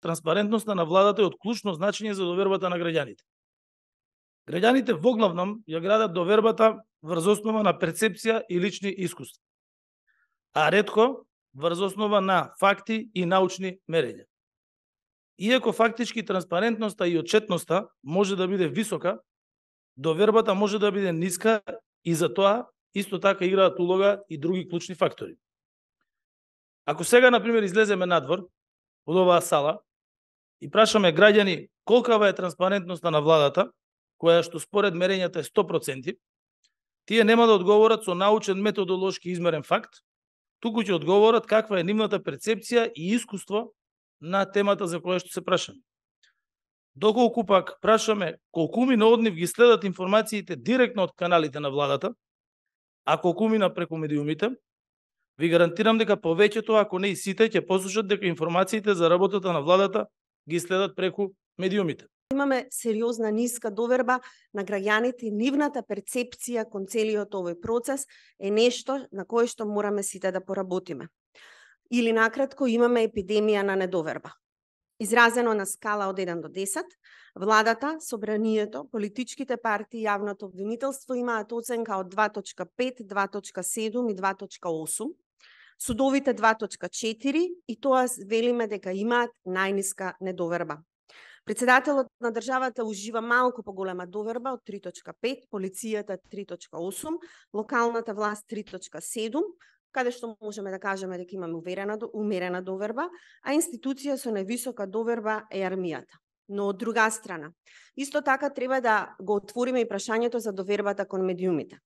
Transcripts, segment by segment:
транспарентноста на владата е од клучно значење за довербата на граѓаните. Граѓаните воглавном ја градат довербата врз основа на перцепција и лични искуства, а ретко врз основа на факти и научни мерења. Иако фактички транспарентноста и отчетноста може да биде висока, довербата може да биде ниска и за тоа исто така играат улога и други клучни фактори. Ако сега, например, излеземе надвор од оваа сала и прашаме граѓани колкава е транспарентноста на владата, која што според мерењата е 100%, тие нема да одговорат со научен методолошки измерен факт, туку ќе одговорат каква е нивната перцепција и искуство на темата за која што се прашаме. Доколку пак прашаме колкумина од нив ги следат информациите директно од каналите на владата, а колкумина преку медиумите, ви гарантирам дека повеќето, ако не и сите, ќе послушат дека информациите за работата на владата ги следат преку медиумите. Имаме сериозна ниска доверба на граѓаните, нивната перцепција кон целиот овој процес е нешто на кое што мораме сите да поработиме. Или накратко, имаме епидемија на недоверба. Изразено на скала од 1 до 10, владата, собранието, политичките партии и јавното обвинителство имаат оценка од 2.5, 2.7 и 2.8, судовите 2.4 и тоа велиме дека имаат најниска недоверба. Председателот на државата ужива малку поголема доверба од 3.5, полицијата 3.8, локалната власт 3.7, каде што можеме да кажеме дека имаме умерена доверба, а институција со највисока доверба е армијата. Но од друга страна, исто така треба да го отвориме и прашањето за довербата кон медиумите.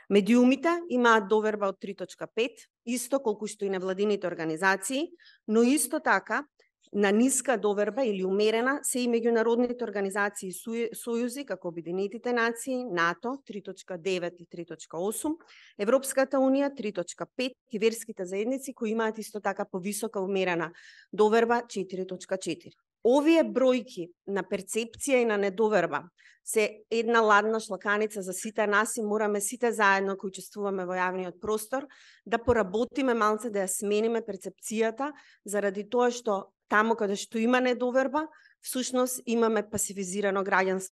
Медиумите имаат доверба од 3.5, исто колку што и невладините организации, но исто така на ниска доверба или умерена се и меѓународните организации и сојузи, како Обединетите нации, НАТО 3.9 и 3.8, Европската унија 3.5 и верските заедници кои имаат исто така повисока умерена доверба 4.4. Овие бројки на перцепција и на недоверба се една ладна шлаканица за сите нас и мораме сите заедно кои учествуваме во јавниот простор да поработиме малце, да ја смениме перцепцијата, заради тоа што таму каде што има недоверба, всушност имаме пасивизирано граѓанство.